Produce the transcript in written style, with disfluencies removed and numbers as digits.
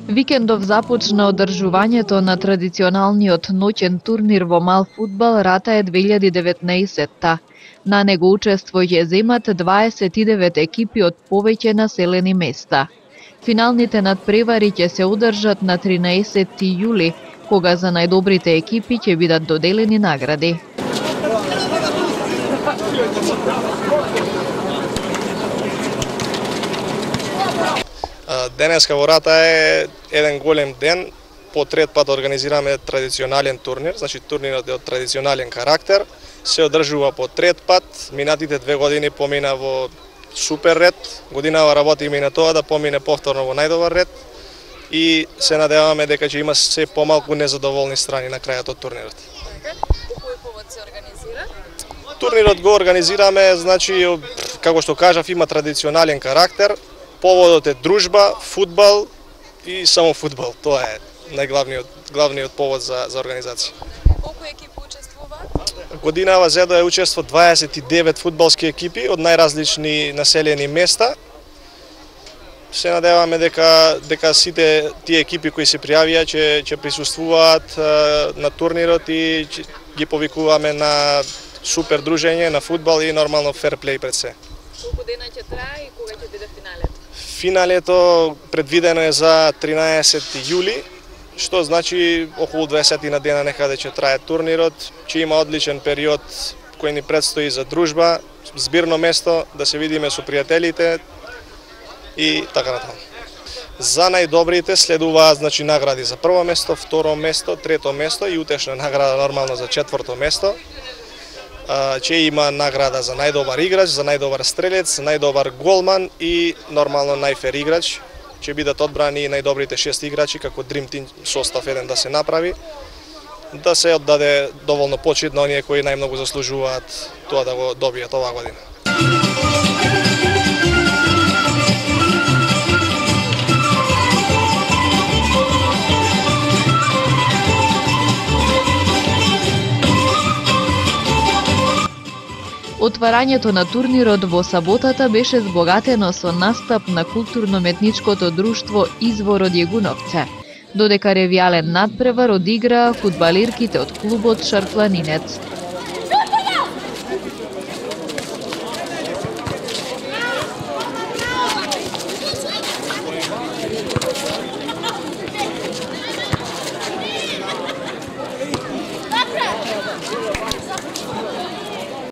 Викендов започна одржувањето на традиционалниот ноќен турнир во мал фудбал Ратаe 2019-та. На него учество ќе земат 29 екипи од повеќе населени места. Финалните надпревари ќе се одржат на 13 јули, кога за најдобрите екипи ќе бидат доделени награди. Денеска во Ратаe е еден голем ден. По трет пат организираме традиционален турнир, значи турнирот е од традиционален карактер. Се одржува по трет пат. Минатите 2 години помина во супер ред. Годинава работиме и на тоа да помине повторно во најдобар ред. И се надеваме дека ќе има се помалку незадоволни страни на крајот од турнирот. По кој повод се организира? Турнирот го организираме, значи, како што кажав, има традиционален карактер. Поводот е дружба, фудбал и само фудбал. Тоа е главниот повод за организација. Колку екипи учествуваат? Годинава зедо е учество 29 фудбалски екипи од најразлични населени места. Се надеваме дека сите тие екипи кои се пријавија ќе присуствуваат на турнирот и ги повикуваме на супер дружење, на фудбал и нормално ферплей пред се. Колку дена ќе трае и кога ќе биде финалето? Финалето предвидено е за 13 јули, што значи околу 20 на дена некаде ќе трае турнирот. Ќе има одличен период кој ни предстои за дружба, збирно место, да се видиме со пријателите и така натаму. За најдобрите следуваат, значи, награди за прво место, второ место, трето место и утешна награда нормално за четврто место. Ќе има награда за најдобар играч, за најдобар стрелец, најдобар голман и нормално најфер играч. Ќе бидат одбрани најдобрите 6 играчи како Dream Team состав еден да се направи, да се оддаде доволно почит на оние кои најмногу заслужуваат тоа да го добијат оваа година. Отварањето на турнирот во саботата беше збогатено со настап на културно-метничкото друштво Извор од Јегуновце, додека ревијален надпревар одиграа фудбалирките од клубот Шарпланинец.